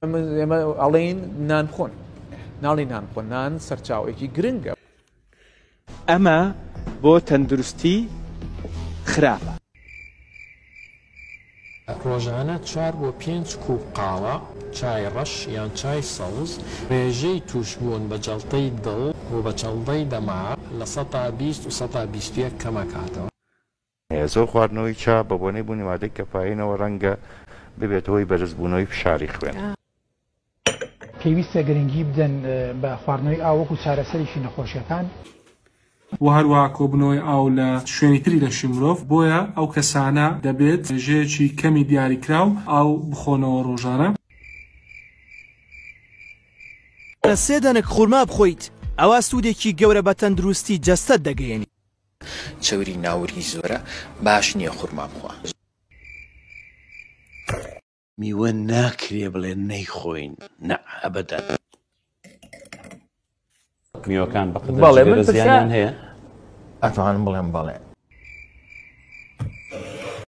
ئێمە ئەڵێین نان بخۆن، ناڵێین نان بخۆن، نان سەرچاوەیەکی گرنگە. ئەمە بۆ تەندروستی خراپە. ڕۆژانە چوار بۆ پێنج کوپ قاوە، چای ڕەش یان چای سەوز، ڕێژەی تووشبوون بە جەڵتەی دڵ و بە چەڵدەی دەماغ 20% و 21% کەمەکاتەوە. زۆر خواردنەوەی چا بە بۆنەی بوونی مادەی کەفایینەوە ڕەنگە ببێتە هۆی بەرزبوونەوەی فشاری خوێن. پێویستە گرنگی بدەن بە خواردنەوەی ئاو وەکو چارەسەرێکی نەخۆشیەکان. وە هەروەها کۆبوونەوەی ئاو لە شوێنی تری لەشی مرۆڤ، بۆیە ئەو کەسانە دەبێت ڕێژەیەکی کەمی دیاریکراو ئاو بخۆنەوە ڕۆژانە. سێ دەنک خورما بخۆیت ئەوا سوودێکی گەورە بە تەندروستی جەستەت دەگەیەنیت. چەوری ناورگی زۆرە باش نیە خورما بخوا. میوە ناکرێ بڵێ نەیخۆین نە ئەبەدەن. میوەکان بە قەدەر بەڵێ من جگەرە پرسیار زیانیان هەیە؟ ئەتوانم بڵێم بەڵێ.